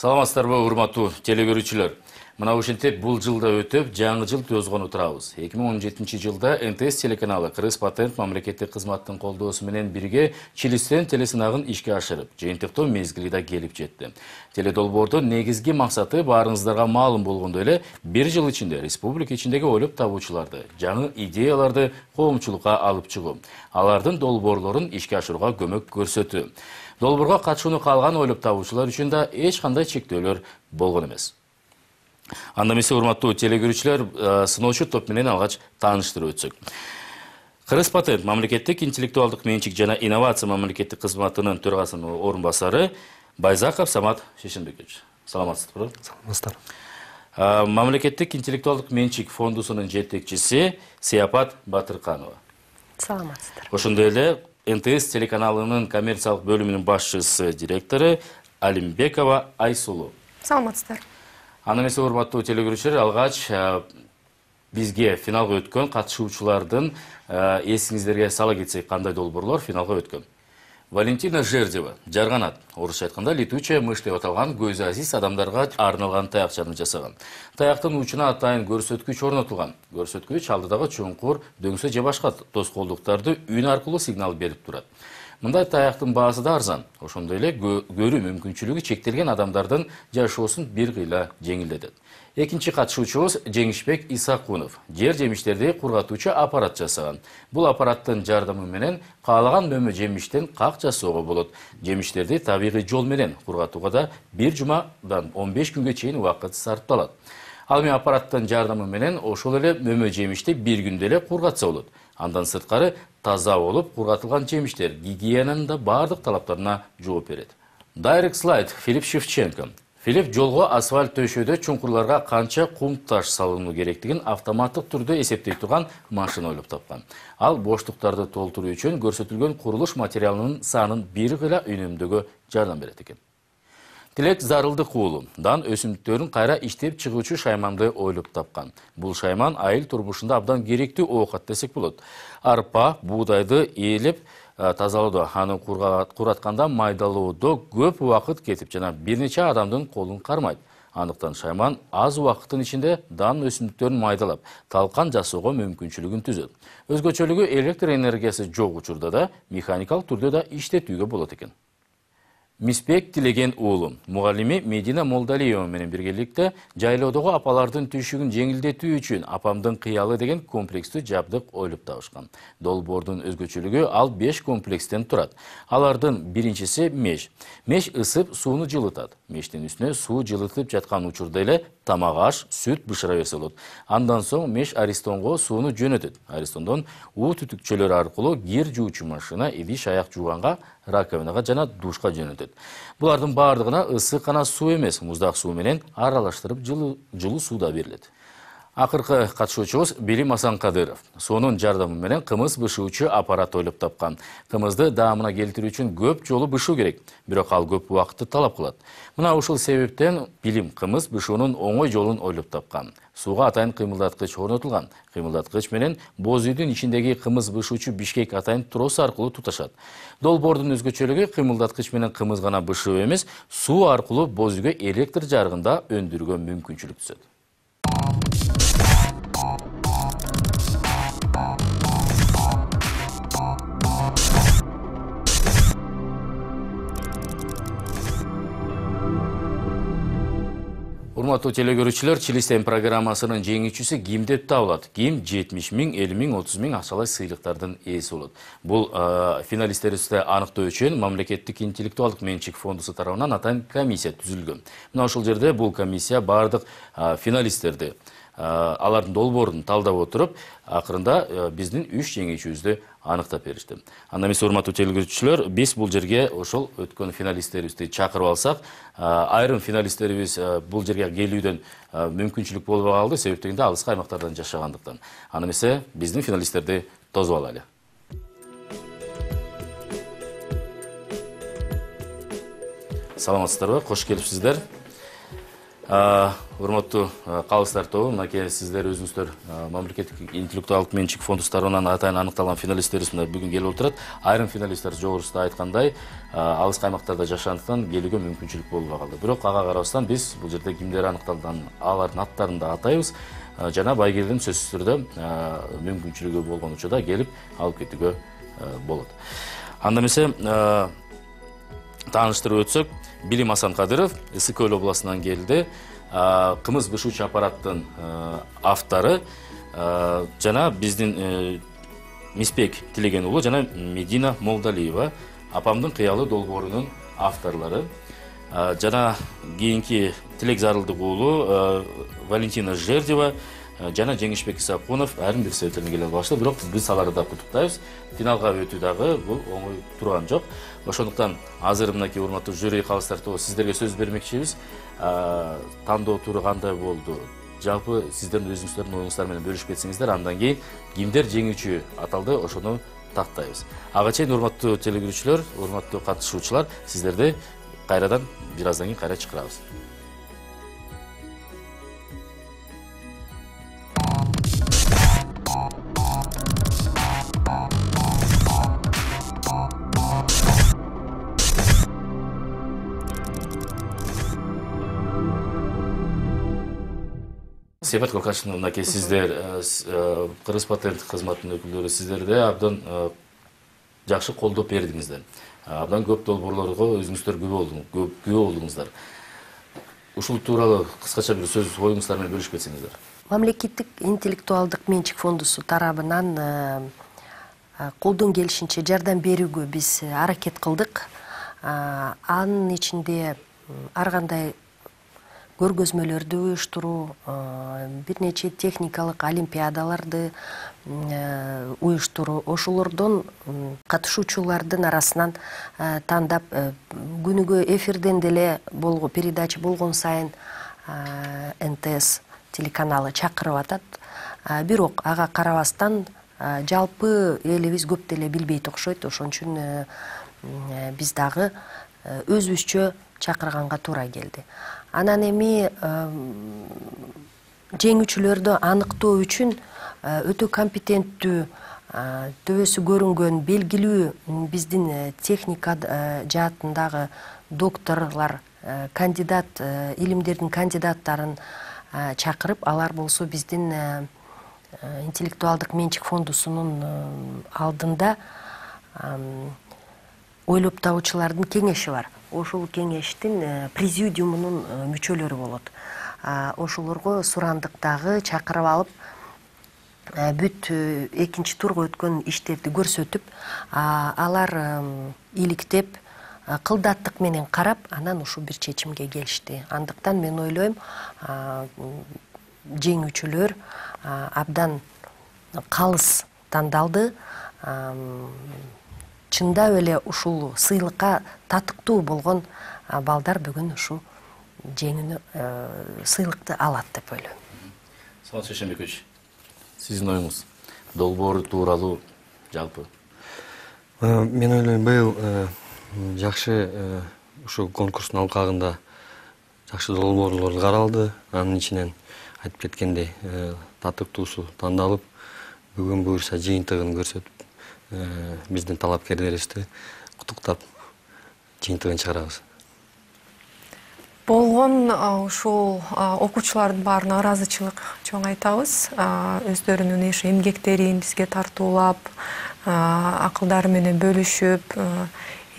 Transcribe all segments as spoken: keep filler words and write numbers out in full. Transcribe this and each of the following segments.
Саламатсыздарбы, урматтуу телекөрүүчүлөр. Мына ушинтип бул жылда өтүп, жаңы жыл төзгөнү турабыз. эки миң он жетинчи жылда эн тэ эс телеканалы Кыргыз патент мамлекеттик кызматтын колдоосу менен бирге Чилистен телесынагын ишке ашырып, жыйынтыктоо мезгили да келип жетти. Теледолбоордун негизги максаты баарыңыздарга маалым болгондой эле бир жыл ичинде республика ичиндеги ойлоп табуучуларды, жаңы идеяларды коомчулукка алып чыгуу, алардын долбоорлорун ишке ашырууга көмөк көрсөтүү. Долбоорго катышууну каалаган ойлоп табуучулар үчүн да эч кандай чектөөлөр болгон эмес. Анда эмесе, урматтуу телекөрүүчүлөр, сыноочу топ менен алгач тааныштырып өтсөк. Кыргыз патент мамлекеттик интеллектуалдык менчик жана инновация мамлекеттик кызматынын төрагасынын орун-басары Байзаков Самат Шешенбекович. Саламатсызбы? Саламатсыздар. Мамлекеттик интеллектуалдык менчик фондусунун жетекчиси Сыяпат Батырканова. Саламатсыздар. Ошондой эле эн тэ эс телеканалынын коммерциялык бөлүмүнүн башчысы, директору Алимбекова Айсулу. Саламатсыздар. Анда эмесе, урматтуу телекөрүүчүлөр, алгач бизге финалга өткөн катышуучулардын эсиңиздерге сала кетсек, кандай долбоорлор финалга өткөн. Валентина Жердева жарганат, орусча айтканда летучая мышь деп аталган көзү азиз адамдарга арналган таякчаны жасаган. Таяктын учуна атайын көрсөткүч орнотулган. Көрсөткүч алдыдагы чоңкур, дөңсө же башка тоскоолдуктарды үн аркылуу сигнал берип турат. Мындай таяктын баасы да арзан. Ошондой эле көрүү мүмкүнчүлүгү чектелген адамдардын жашоосун бир кыйла жеңилдетет. Экинчи катышуучубуз Жеңишбек Исакунов жер жемиштерди кургатуучу аппарат жасаган. Бул аппараттын жардамы менен каалаган мөмө жемиштен как жасоого болот. Жемиштерди табигый жол менен кургатууга да бир жумадан он беш күнгө чейин убакыт сарпталат. Ал эми аппараттын жардамы менен ошол эле мөмө жемишти бир күндө эле кургатса болот. Андан сырткары таза болуп кургатылган жемиштер гигиенанын да бардык талаптарына жооп берет. Direct Slide Филипп Шевченко. Филипп жолго асфальт төшөөдө чуңкурларга канча кум таш салынуу керектигин автоматтык түрдө эсептей турган машина ойлоп тапкан. Ал боштуктарды толтуруу үчүн көрсөтүлгөн курулуш материалынын санын бир кыйла үнөмдөөгө жардам берет экен. Тилек Зарылдык уулу дан өсүмдүктөрүн кайра иштеп чыгуучу шайманды ойлоп тапкан. Бул шайман айыл турмушунда абдан керектүү оокат десек болот. Арпа, буудайды ээлеп тазалоодо, аны куратканда майдалоодо көп убакыт кетип жана бир нече адамдын колун кармайт. Андыктан шайман аз убакыттын ичинде дан өсүмдүктөрүн майдалап, талкан жасоого мүмкүнчүлүгүн түзөт. Өзгөчөлүгү электр энергиясы жок учурда да механикалык түрдө да иштетүүгө болот экен. Мисбек Тилеген уулу, мугалими Медина Молдалиева менен биргеликте жайлоодогу апалардын түйшүгүн жеңилдетүү үчүн апамдын кыялы деген комплекстүү жабдык ойлоп табышкан. Долбоордун өзгөчөлүгү ал беш комплекстен турат. Алардын биринчиси меш. Меш ысып сууну жылытат. Мештин үстүнө суу жылытып жаткан учурда эле тамак аш, сүт бышыра берсе болот. Андан соң меш аристонго сууну жөнөтөт. Аристондон уу түтүкчөлөр аркылуу кир жуучу машина идиш аяк жууганга, раковинага жана душка жөнөтөт. Булардын бардыгына ысык гана суу эмес, муздак суу менен аралаштырып жылуу сууда берилет. Акыркы катышуучубуз Билим Асанкадыров. Сонун жардамы менен кымыз бышуучу аппарат ойлоп тапкан. Кымызды даамына келтирүү үчүн көп жолу бышуу керек, бирок ал көп убакытты талап кылат. Мына ушул себептен Билим кымыз бышуунун оңой жолун ойлоп тапкан. Сууга атайын кыймылдаткыч орнотулган. Кыймылдаткыч менен боз үйдүн ичиндеги кымыз бышуучу бишкек атайын трос аркылуу туташат. Долбоордун өзгөчөлүгү кыймылдаткыч менен кымыз гана бышуу эмес, суу аркылуу боз үйгө электр жарыгын да өндүрүүгө мүмкүнчүлүк түзөт. Урматтуу телекөрүүчүлөр, Чилистен программасынын жеңүүчүсү ким деп табылат? Ким жетимиш миң, элүү миң, отуз миң акчалай сыйлыктардын ээси болот. Бул финалисттерибизди аныктоо үчүн мамлекеттик интеллектуалдык менчик фондусу тарабынан атайын комиссия түзүлгөн. Мына ошол жерде бул комиссия бардык финалисттерди, алардын долбоорун талдап отуруп, акырында биздин үч жеңүүчүбүздү аныктап беришти. Анда эмесе, урматтуу телекөрүүчүлөр, биз бул жерге ошол өткөн финалисттерибизди чакырып алсак, айрым финалисттерибиз бул жерге келүүдөн мүмкүнчүлүк болбой калды, себеп дегенде алыскы аймактардан жашагандыктан. Анда эмесе, биздин финалисттерди тосуп алайлы. Саламатсыздарбы, кош келипсиздер. Урматтуу калыстар тобу, мынакей сиздер өзүңүздөр мамлекеттик интеллектуалдык менчик фондус тарабынан атайын аныкталган финалисттерибиз мына бүгүн келип отурат. Айрым финалисттер жогорусунда айткандай, алыс каймактарда жашагандыктан келүүгө мүмкүнчүлүк болбой калды. Бирок ага карабастан биз бул жерде кимдер аныкталган алардын аттарын да атайбыз. Жана байгелдин сөзсүз түрдө мүмкүнчүлүгү болгон учурда келип алып кетүүгө болот. Анда эмесе тааныштырып өтсөк, Билим Асанкадыров Ысык-Көл областынан келди. Кымыз бышуучу аппараттын автору жана биздин Миспек Тилеген уулу жана Медина Молдалиева апамдын кыялы долбоорунун авторлору. Жана кийинки Тилек Зарылдык уулу Валентина Жердева жана Жеңишбек Исакунов айрым бир себептерден келе албашты, бирок биз аларды да куттуктайбыз. Финалга өтүү дагы бул оңой турган жок. Ошондуктан азыр мынакей урматтуу жюри калыстар тобу сиздерге сөз бермекчибиз. Тандоо туру кандай болду? Жалпы сиздердин өзүңүздөрдүн оюңуздар менен бөлүшүп кетсеңиздер, андан кийин кимдер жеңүүчү аталды, ошону тактайбыз. Ага чейин урматтуу телегөрүүчүлөр, урматтуу катышуучулар, сиздерди кайрадан бир аздан кийин кайра чакырабыз. Сепат Коркашевна, мынакей сиздер Кыргыз патент кызматынын өкүлдөрү, сиздерде абдан жакшы колдоп бердиңиздер. Абдан көп долбоорлорго өзүңүздөр күбө болдуңуздар. Ушул тууралуу кыскача бир сөз оюңуздар менен бөлүшүп кетсеңиздер. Мамлекеттик интеллектуалдык менчик фондусу тарабынан колдон келишинче жардам берүүгө биз аракет кылдык. Анын ичинде ар кандай көргөзмөлөрдү уюштуруу, бир нече техникалык олимпиадаларды уюштуруу, ошолордон катышуучулардын арасынан тандап күнүгө эфирден деле болгон передача болгон сайын эн тэ эс телеканалы чакырып атат. Бирок ага карабастан жалпы элибиз көп деле билбейт окшойт. Ошон үчүн биз дагы өзүбүзчө чакырганга туура келди. Анан эми жеңүүчүлөрдү аныктоо үчүн өтө компетенттүү, төбөсү көрүнгөн, белгилүү биздин техника жаатындагы докторлор, кандидат, илимдердин кандидаттарын чакырып, алар болсо биздин интеллектуалдык менчик фондусунун алдында ойлоп табуучулардын кеңеши бар. Ошол кеңештин президиумунун мүчөлөрү болот. Ошолорго сурандык дагы чакырып алып, бүт экинчи турга өткөн иштерди көрсөтүп, алар иликтеп, кылдаттык менен карап, анан ушул бир чечимге келишти. Андыктан мен ойлойм, жеңүүчүлөр абдан калыс тандалды. Чындап эле ушул сыйлыкка татыктуу болгон балдар бүгүн ушул жеңүүнү, сыйлыкты алат деп ойлойм. Саламат Шешенбекович, сиздин оюңуз долбоор тууралуу жалпы? Мен ойлойм, быйыл жакшы ушул конкурстун алкагында жакшы долбоорлор каралды. Анын ичинен айтып кеткендей татыктуусу тандалып, бүгүн буюрса жыйынтыгын көрсөтүп, биздин талапкерлерибизди куттуктап жыйынтыгын чыгарабыз. Болгон ушул окуучулардын баарына ыраазычылык чоң айтабыз. Өздөрүнүн иш эмгектерин бизге тартуулап, акылдары менен бөлүшүп,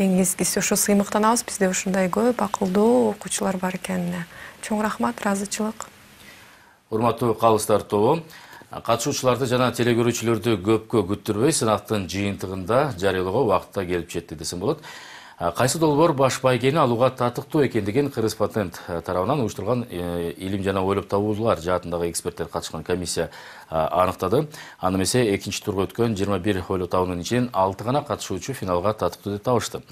эң эскиси ошо сыймыктанабыз. Бизде ушундай көп акылдуу окуучулар бар экенине. Чоң рахмат, ыраазычылык. Урматтуу калыстар тобу, катышуучуларды жана телекөрүүчүлөрдү көпкө күттүрбөй сынактын жыйынтыгында жарыялоого убакытта келип жетти десем болот. Кайсы долбоор баш байгени алууга татыктуу экендигин Кыргыз патент тарабынан уюштурулган илим жана ойлоп табуулар жаатындагы эксперттер катышкан комиссия аныктады. Аны эмесе экинчи турга өткөн жыйырма бир ойлоп табуунун ичинен алты гана катышуучу финалга татыктуу деп табышты.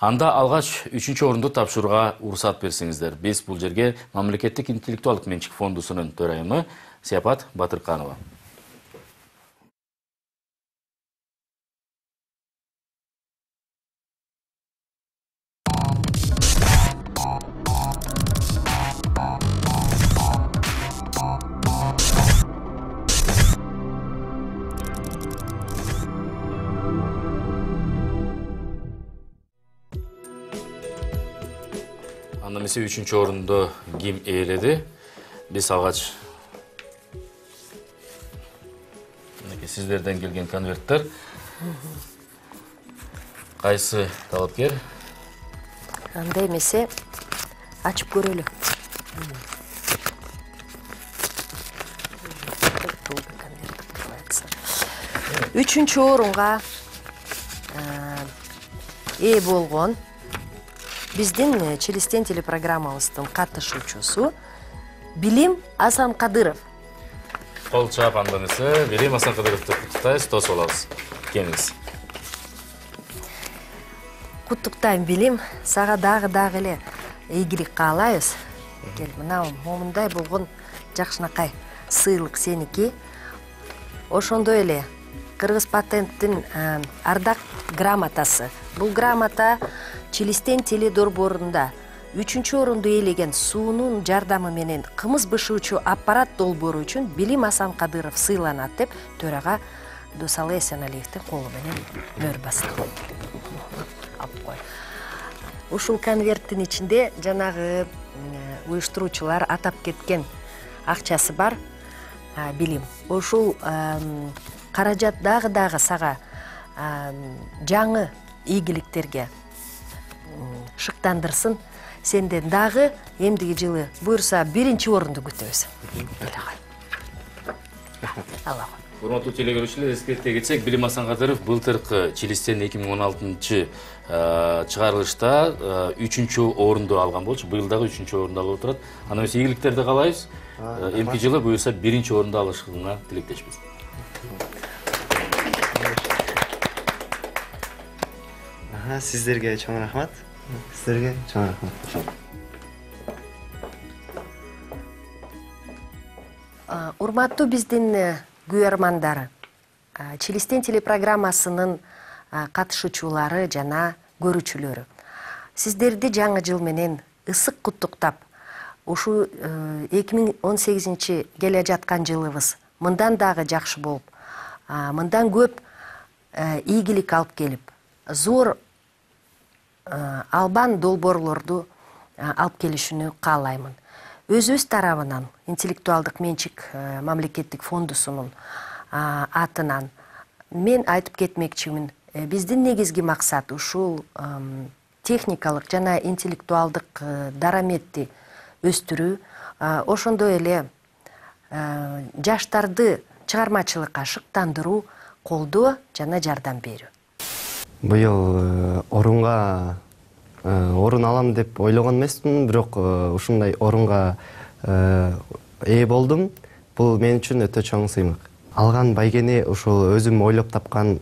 Анда алгач үчүнчү орунду тапшырууга уруксат берсеңиздер. Биз бул жерге мамлекеттик интеллектуалдык менчик фондусунун төрайымы Сепат Батырканова. эмесе үчүнчү орунду ким ээледи? Биз алгач мынакей сиздерден келген конверттер. Кайсы талапкер? Анда эмесе ачып көрөлү. Үчүнчү орунга ээ болгон биздин Челестен телепрограммабыздын катышуучусу Билим Асанкадыров. Кол чаап анда эмесе Билим Асанкадыровду куттуктайбыз, тосуп алабыз. Келиңиз. Куттуктайм, Билим. Сага дагы дагы эле ийгилик каалайбыз. Кел, мына момундай болгон жакшынакай сыйлык сеники. Ошондой эле Кыргыз патенттин ардак грамотасы. Бул грамота Челестен теледорборунда үчүнчү орунду ээлеген суунун жардамы менен кымыз бышуучу аппарат долбоору үчүн Билим Асанкадыров сыйланат деп төрага Досалы Эсеналиевдин колу менен мөр басты. Алып кой. Ушул конверттин ичинде жанагы уюштуруучулар атап кеткен акчасы бар. Билим. Ушул каражат дагы дагы сага жаңы ийгиликтерге шыктандырсын. Сенден дагы эмдиги жылы буюрса биринчи орунду күтөбүз. Алла. Урматтуу телегөрүүчүлөр, эскерте кетсек, Билим Асанкадыров былтыркы Челестен эки миң он алтынчы чыгарылышта үчүнчү орунду алган болчу. Быйыл дагы үчүнчү орунду алып отурат. Анда эмесе ийгиликтерди каалайбыз. Эмки жылы буюрса биринчи орунду алышыңа тилектешпиз. Сиздерге чоң рахмат. Сиздерге чоң рахмат. Урматтуу биздин күйөрмандары, Челестен телепрограммасынын катышуучулары жана көрүүчүлөрү. Сиздерди жаңы жыл менен ысык куттуктап, ушу эки миң он сегизинчи келе жаткан жылыбыз мындан дагы жакшы болуп, мындан көп ийгилик алып келип, зор албан долбоорлорду алып келишини каалаймын. Өзүбүз тарабынан интеллектуалдык менчик мамлекеттик фондусунун атынан мен айтып кетмекчимин. Биздин негизги максат ушул техникалык жана интеллектуалдык дараметти өстүрүү, ошондой эле жаштарды чыгармачылыкка шыктандыруу, колдоо жана жардам берүү. Быйыл орунга орун алам деп ойлогон эмесмин, бирок ушундай орунга ээ болдум. Бул мен үчүн өтө чоң сыймык. Алган байгени ушул өзүм ойлоп тапкан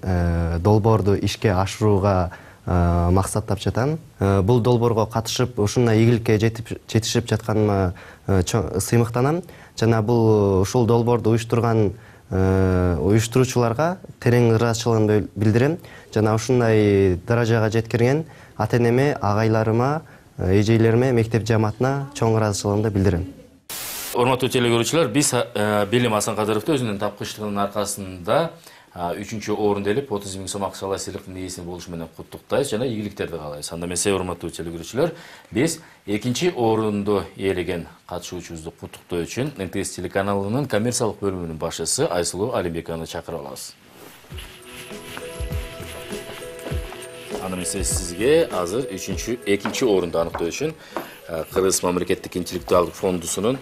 долбоорду ишке ашырууга максаттап жатам. Бул долбоорго катышып, ушундай ийгиликке жетишип жатканыма сыймыктанам. Жана бул ушул долбоорду уюштурган уюштуруучуларга терең ыраазычылыгымды билдирем. Жана ушундай даражага жеткирген ата-энеме, агайларыма, эжейлериме, мектеп жамаатына чоң ыраазычылыгымды билдирем. Урматтуу телегөрүүчүлөр, биз Билим Асанкадыровду өзүнүн тапкычтыгынын аркасында үчүнчү орунду ээлеп отуз миң сом акчалай сыйлыктын ээси болушу менен куттуктайбыз жана ийгиликтерди каалайбыз. Анда эмесе, урматтуу телегөрүүчүлөр, биз экинчи орунду ээлеген катышуучубузду куттуктоо үчүн эн тэ эс телеканалынын коммерциялык бөлүмүнүн башчысы Айсулуу Алимбековну чакырып алабыз. Анда эмесе, сизге азыр үчүнчү экинчи орунду аныктоо үчүн Кыргыз мамлекеттик интеллектуалдык фондусунун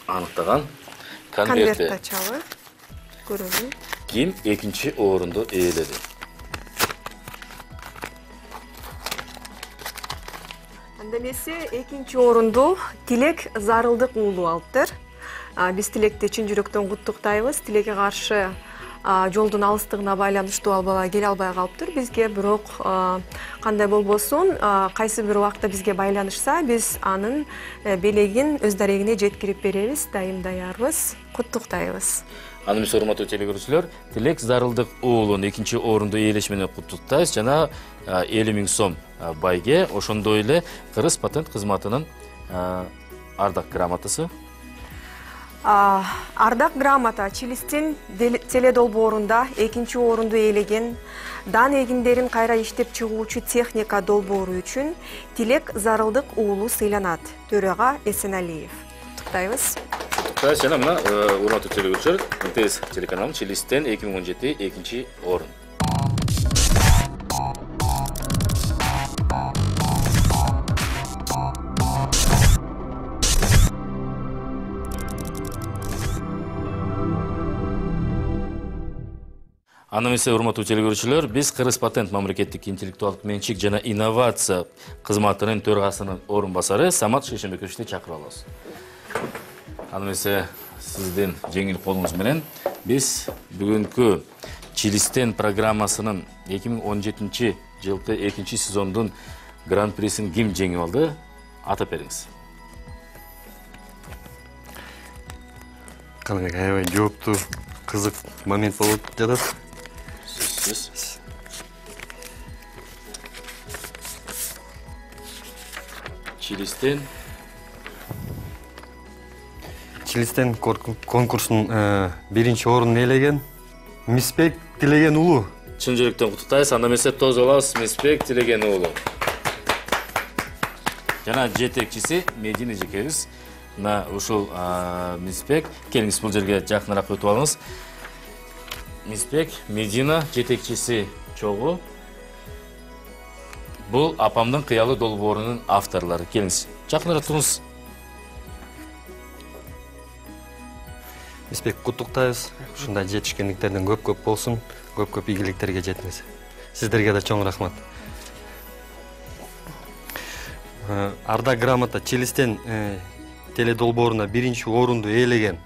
аныктаган конверти. Конверт ачалы. Көрөлү. Ким экинчи орунду ээледи? Анда эмесе экинчи орунду Тилек Зарылдык уулу алыптыр. Биз Тилекти чын жүрөктөн куттуктайбыз. Тилекке каршы жолдун алыстыгына байланыштуу ал бала келе албай калыптыр бизге, бирок кандай болбосун, кайсы бир убакта бизге байланышса, биз анын белегин өз дарегине жеткирип беребиз, дайым даярбыз, куттуктайбыз. Анда эмесе, урматтуу телегөрүүчүлөр, Тилек Зарылдык уулун экинчи орунду ээлеш менен куттуктайбыз жана элүү миң сом байге, ошондой эле Кыргыз патент кызматынын ардак грамотасы. Ардак грамота Чилистин теледолбоорунда экинчи орунду ээлеген, дан эгиндерин кайра иштеп чыгуучу техника долбоору үчүн Тилек Зарылдык уулу сыйланат. Төрага Эсеналиев. Куттуктайбыз. Куттуктайбыз. Жана мына урматтуу телекөрүүчүлөр, эн тэ эс телеканалынын Чилистен эки миң он жети экинчи орун. Аны эмесе урматтуу телекөрүүчүлөр, биз Кыргыз патент мамлекеттик интеллектуалдык менчик жана инновация кызматынын төрагасынын орун басары Самат Шейшембековичти чакырып алабыз. Аны эмесе сиздин жеңил колуңуз менен биз бүгүнкү Чилистен программасынын эки миң он жетинчи жылкы экинчи сезондун гран-присин ким жеңип алды? Атап бериңиз. Кандай аябай жооптуу, кызык момент болуп жатат. Чилистен Чилистен конкурсунун биринчи орунун ээлеген Мисбек Тилеген уулу. Чын жүрөктөн куттуктайбыз. Анда эмесе тоз алабыз Мисбек Тилеген уулу. Жана жетекчиси Медина эжекебиз. Мына ушул Мисбек, келиңиз бул жерге жакыныраак өтүп алыңыз. Мисбек, Медина жетекчиси чогуу. Бул апамдын кыялы долбоорунун авторлору. Келиңиз, жакыныраак туруңуз. Мисбек, куттуктайбыз. Ушундай жетишкендиктерден көп-көп болсун, көп-көп ийгиликтерге жетиңиз. Сиздерге да чоң рахмат. Ардак грамота Чилистен теледолбооруна биринчи орунду ээлеген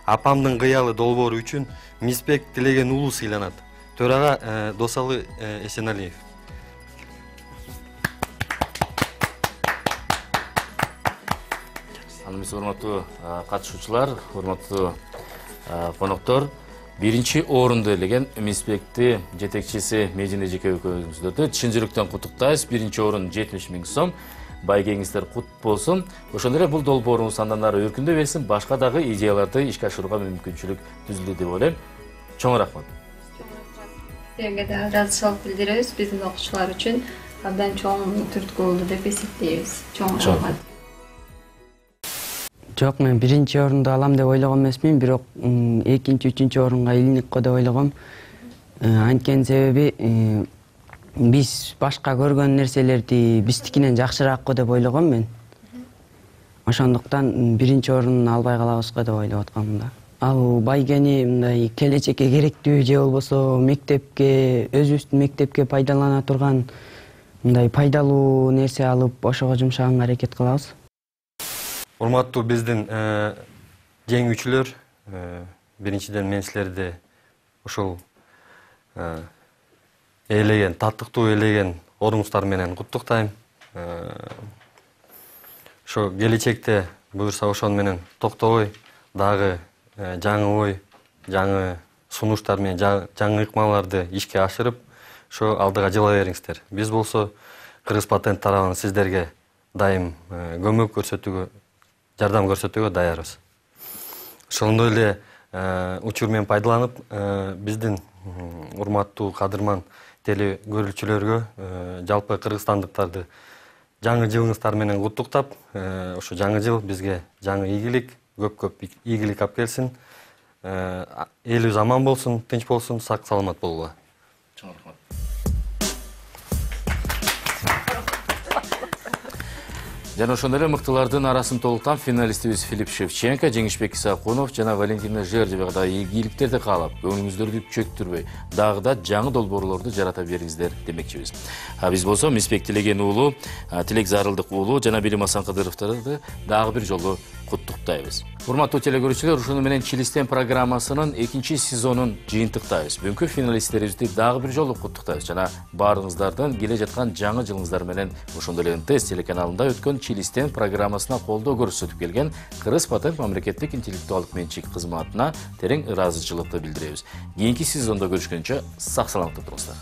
апамдын кыялы долбоору үчүн Мисбек Тилеген уулу сыйланат. Төрага Досалы Эсеналиев. Аны эмесе урматтуу катышуучулар, урматтуу коноктор, биринчи орунду ээлеген Мисбекти жетекчиси Медина эжекебиздөрдү чын жүрөктөн куттуктайбыз. Биринчи орун жетимиш миң сом. Байгеңиздер кут болсун. Ошондой эле бул долбооруңуз андан ары өркүндөй берсин, башка дагы идеяларды ишке ашырууга мүмкүнчүлүк түзүлдү деп ойлойм. Чоң рахмат. Силерге да ыраазычылык билдиребиз. Биздин окуучулар үчүн абдан чоң түрткү болду деп эсептейбиз. Чоң рахмат. Жок, мен биринчи орунду алам деп ойлогон эмесмин, бирок экинчи, үчүнчү орунга илинип го деп ойлогом. Анткени себеби биз башка көргөн нерселерди биздикинен жакшыраак го деп ойлогом мен. Ошондуктан биринчи орун албай калабыз го деп ойлоп аткам да. Ал байгени мындай келечекке керектүү же болбосо мектепке, өзүбүздүн мектепке пайдалана турган мындай пайдалуу нерсе алып, ошого жумшаганга аракет кылабыз. Урматтуу биздин жеңүүчүлөр, биринчиден мен силерди ушул ээлеген, таттыктуу ээлеген орунуңуздар менен куттуктайм. Ошо келечекте буюрса ошону менен токтобой дагы жаңы ой, жаңы сунуштар менен жаңы ыкмаларды ишке ашырып, ошо алдыга жыла бериңиздер. Биз болсо Кыргыз патент тарабынан сиздерге дайым көмөк көрсөтүүгө, жардам көрсөтүүгө даярбыз. Ошондой эле учур менен пайдаланып, биздин урматтуу кадырман теле көрүүчүлөргө, жалпы кыргызстандыктарды жаңы жылыңыздар менен куттуктап, ошо жаңы жыл бизге жаңы ийгилик, көп-көп ийгилик алып келсин. Элибиз аман болсун, тынч болсун, сак саламат болгула. Чоң рахмат. Жана ошондой эле мыктылардын арасын толуктан финалистибиз Филипп Шевченко, Жеңишбек Исакунов жана Валентина Жердевага да ийгиликтерди каалап, көңүлүңүздөрдү чөктүрбөй, дагы да жаңы долбоорлорду жарата бериңиздер демекчибиз. Биз болсо Мисбек Тилеген уулу, Тилек Зарылдык уулу жана Билим Асан Кыдыровдорду дагы бир жолу куттуктайбыз. Урматтуу телекөрүүчүлөр, ушуну менен Чилистен программасынын экинчи сезонун жыйынтыктайбыз. Бүгүнкү финалисттерибизди дагы бир жолу куттуктайбыз жана баарыңыздардын келе жаткан жаңы жылыңыздар менен ошондой эле эн тэ эс телеканалында өткөн Чилистен программасына колдоо көрсөтүп келген Кыргыз патент мамлекеттик интеллектуалдык менчик кызматына терең ыраазычылыкты билдиребиз. Кийинки сезондо көрүшкөнчө сак саламатта туруңуздар.